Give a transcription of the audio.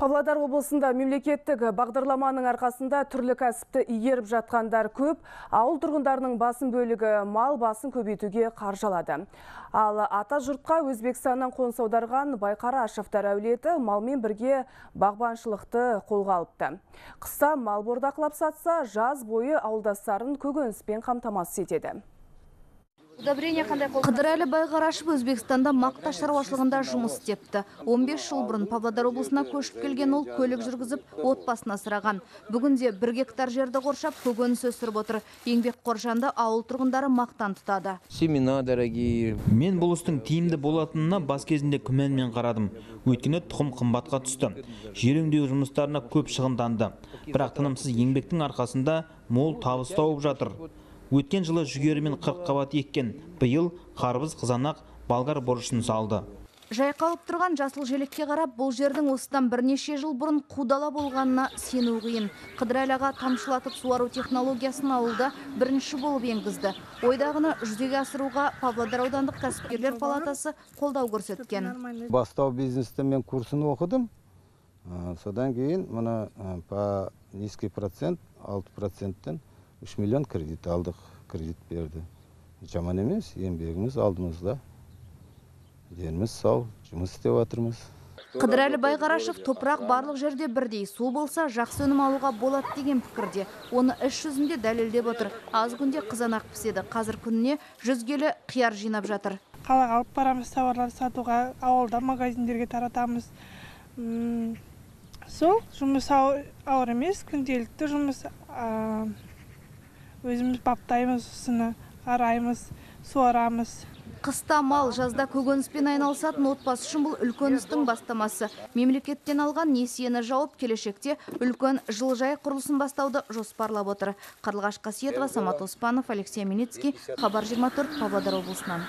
Павлодар облысында мемлекеттік бағдарламаның арқасында түрлі кәсіпті игеріп жатқандар көп, ауыл тұрғындарының басым бөлігі мал басын көбейтуге қаржылады. Ал ата жұртқа Өзбекстаннан қоныс аударған Байқара Ашевтар әулеті малмен бірге бағбаншылықты қолға алыпты. Қыста мал бордақылап сатса, жаз бойы ауылдастарын көкөніспен қамтамасыз етеді. Қыдырәлі Байқарашев Өзбекстанда мақта шаруашылығында жұмыс істепті. 15 жыл бұрын Павлодар облысына көшіп келген ол көлік жүргізіп, отбасын асыраған. Бүгінде 1 гектар жерді қоршап, көкөніс өсіріп отыр. Еңбекқор жанды ауыл тұрғындары мақтан тұтады. Семена дорогие. Мен бұл істің тиімді болатынына бас кезінде күмәнмен қарадым. Өйткені тұқым қымбатқа түсті. Жер өңдеу жұмыстарына көп шығынданды. Бірақ тынымсыз еңбектің арқасында мол табыс тауып жатыр. Өткен жылы жүгерімен 40 қабат еккен, биыл қарбыз, қызанақ, болгар бұрышын салды. Жайқалып тұрған жасыл желекке қарап, бұл жердің осыдан бірнеше жыл бұрын қудала болғанына сену қиын. Қыдырәлі аға тамшылатып суару технологиясын ауылда бірінші болып енгізді. Ойдағыны жүзеге асыруға Павлодар аудандық кәсіпкерлер палатасы қолдау көрсеткен. Бастау бизнесте мен курсын оқыдым. Содан кейін мұны по низкий процент, 6%-тен 3 миллион кредит алдық, кредит берді. Жаман емес, еңбегіміз алдымызда. Деніміз сау, жұмыс істеп жатырмыз. Қыдырәлі Байқарашев топырақ барлық жерде бірдей, су болса жақсы өнім алуға болады деген пікірде. Оны іс жүзінде дәлелдеп отыр. Аз күнде қызанақ піседі. Қазір күніне 100 келі қияр жинап жатыр. Қалаға алып барамыз тауарлар сатуға, ауылда магазиндерге таратамыз. Сол жұмыс ауыр емес, күнделікті жұмыс. Өзіміз баптаймыз, осыны араймыз, суарамыз. Қыста мал, жазда көкөніспен айналысатын отбасы үшін бұл үлкен істің бастамасы. Мемлекеттен алған несиені жауып, келешекте үлкен жылыжай құрылысын бастауды жоспарлап отыр. Қарлығаш Қасиетова, Самат Оспанов, Алексей Миницкий, Хабар 24, Павлодар облысынан.